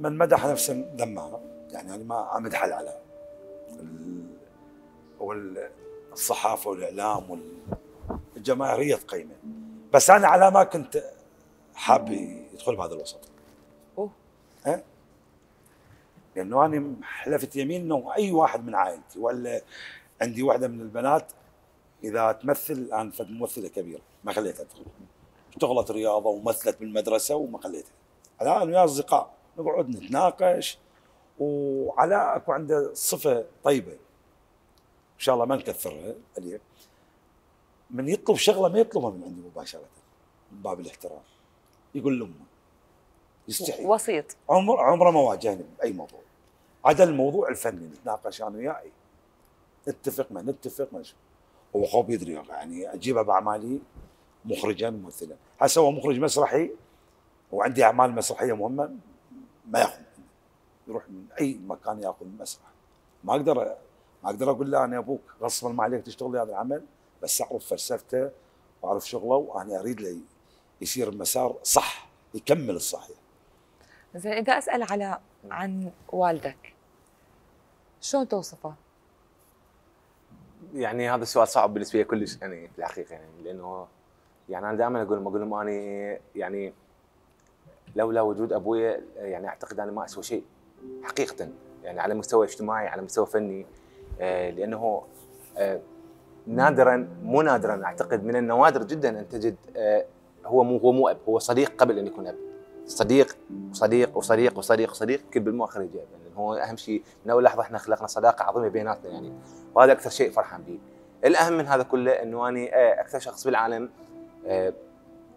من مدح نفسه ذمها، يعني انا ما امدح العلام والصحافه والاعلام والجماهيريه تقيمه، بس انا على ما كنت حاب يدخل بهذا الوسط. ها؟ لانه انا حلفت يمين انه اي واحد من عائلتي ولا عندي واحده من البنات اذا تمثل الان فد ممثله كبيره ما خليتها تدخل. اشتغلت رياضه ومثلت بالمدرسه وما خليتها. الان انا ويا اصدقاء نقعد نتناقش، وعلاء اكو عنده صفه طيبه ان شاء الله ما نكثرها عليه، من يطلب شغله ما يطلبها من عندي مباشره من باب الاحترام، يقول لامه يستحي. وسيط. عمره ما واجهني باي موضوع عدا الموضوع الفني، نتناقش انا وياه نتفق ما نتفق ما شو. هو خوف يدري يعني اجيبه باعمالي مخرجا ممثلا، هسه هو مخرج مسرحي وعندي اعمال مسرحيه مهمه ما ياخذ، يروح من اي مكان ياخذ مسرح. ما اقدر اقول له انا ابوك غصبا ما عليك تشتغل هذا العمل، بس اعرف فلسفته واعرف شغله، وانا اريد له يصير المسار صح، يكمل الصحيح. زين اذا اسال عن والدك شلون توصفه؟ يعني هذا السؤال صعب بالنسبه لي كلش يعني في الحقيقه، يعني لانه يعني انا دائما اقول لهم اني يعني لولا وجود ابوي يعني اعتقد انا ما اسوى شيء حقيقه، يعني على مستوى اجتماعي على مستوى فني، لانه نادرا مو نادرا اعتقد من النوادر جدا ان تجد هو مو اب، هو صديق قبل ان يكون اب، صديق وصديق وصديق وصديق وصديق كل بالمؤخر يجي، يعني هو اهم شيء من اول لحظه احنا خلقنا صداقه عظيمه بيناتنا يعني، وهذا اكثر شيء فرحان به. الاهم من هذا كله انه اني اكثر شخص بالعالم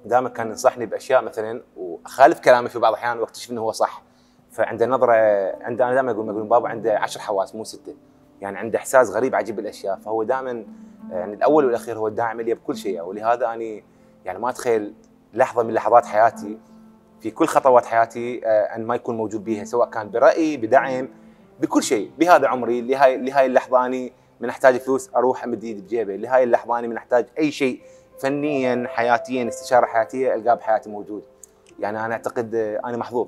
دائما كان ينصحني باشياء مثلا واخالف كلامي في بعض الاحيان واكتشف انه هو صح، فعنده نظره، عنده انا دائما اقول بابا عنده 10 حواس مو 6، يعني عنده احساس غريب عجيب بالاشياء، فهو دائما يعني الاول والاخير هو الداعم لي بكل شيء، ولهذا اني يعني ما اتخيل لحظه من لحظات حياتي في كل خطوات حياتي ان ما يكون موجود بيها، سواء كان براي بدعم بكل شيء. بهذا عمري لهاي اللحظه اني من احتاج فلوس اروح امد ايدي بجيبه، لهاي اللحظه اني من احتاج اي شيء فنيا حياتيا استشاره حياتيه القاه بحياتي موجود، يعني انا اعتقد انا محظوظ.